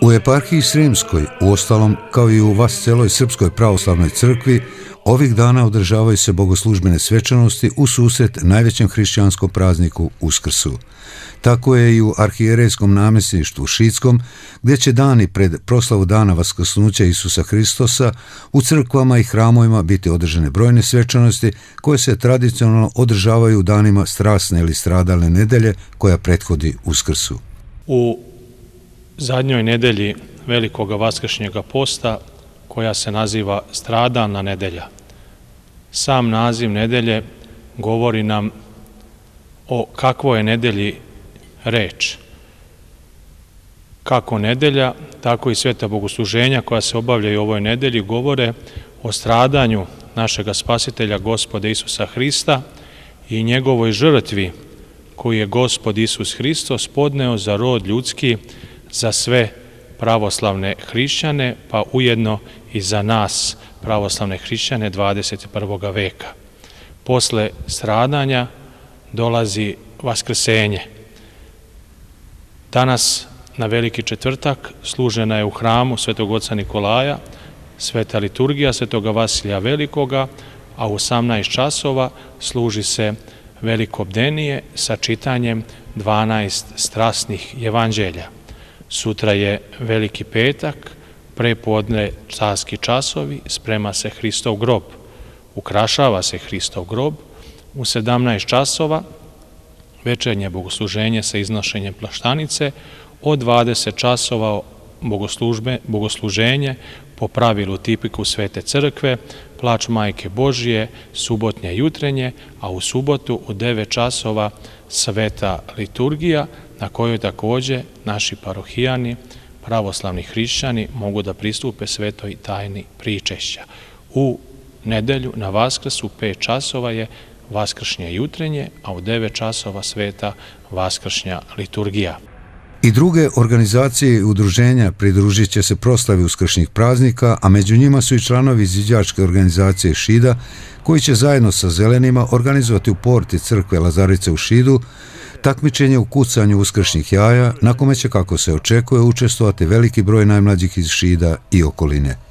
U eparhiji Sremskoj, uostalom kao i u Vasceloj Srpskoj pravoslavnoj crkvi, ovih dana održavaju se bogoslužbene svečanosti u susret najvećem hrišćanskom prazniku Uskrsu. Tako je i u arhijerejskom namjesništvu Šidskom, gdje će dani pred proslavu dana Vaskrsnuća Isusa Hristosa u crkvama i hramovima biti održane brojne svečanosti koje se tradicionalno održavaju u danima strasne ili stradalne nedelje koja prethodi Uskrsu. U zadnjoj nedelji Velikoga Vaskršnjega posta, koja se naziva stradalna nedelja. Sam naziv nedelje govori nam o kakvoj je nedelji reč. Kako nedelja, tako i sveta bogosluženja koja se obavljaju u ovoj nedelji govore o stradanju našega Spasitelja Gospoda Isusa Hrista i njegovoj žrtvi koju je Gospod Isus Hristos podneo za rod ljudski, za sve pravoslavne hrišćane, pa ujedno i za nas, pravoslavne hrišćane 21. veka. Posle stradanja dolazi vaskrsenje. Danas, na Veliki četvrtak, služena je u hramu Svetog oca Nikolaja sveta liturgija Svetoga Vasilija Velikoga, a u 18 časova služi se veliko bdenije sa čitanjem 12 strasnih evanđelja. Sutra je Veliki petak, prepodne carski časovi, sprema se Hristov grob, ukrašava se Hristov grob. U 17 časova večernje bogosluženje sa iznošenjem plaštanice, od 20 časova bogosluženje po pravilu tipiku Svete crkve, plač Majke Božije, subotnje jutrenje, a u subotu u 9 časova sveta liturgija, na kojoj također naši parohijani, pravoslavni hrišćani mogu da pristupe svetoj tajni pričešća. U nedelju na Vaskrs u 5 časova je vaskršnje jutrenje, a u 9 časova sveta vaskršnja liturgija. I druge organizacije i udruženja pridružit će se proslavi uskršnjih praznika, a među njima su i članovi izviđačke organizacije Šida, koji će zajedno sa Zelenima organizovati u porti crkve Lazarice u Šidu takmičenje u kucanju uskršnjih jaja, na kome će, kako se očekuje, učestvovati veliki broj najmlađih iz Šida i okoline.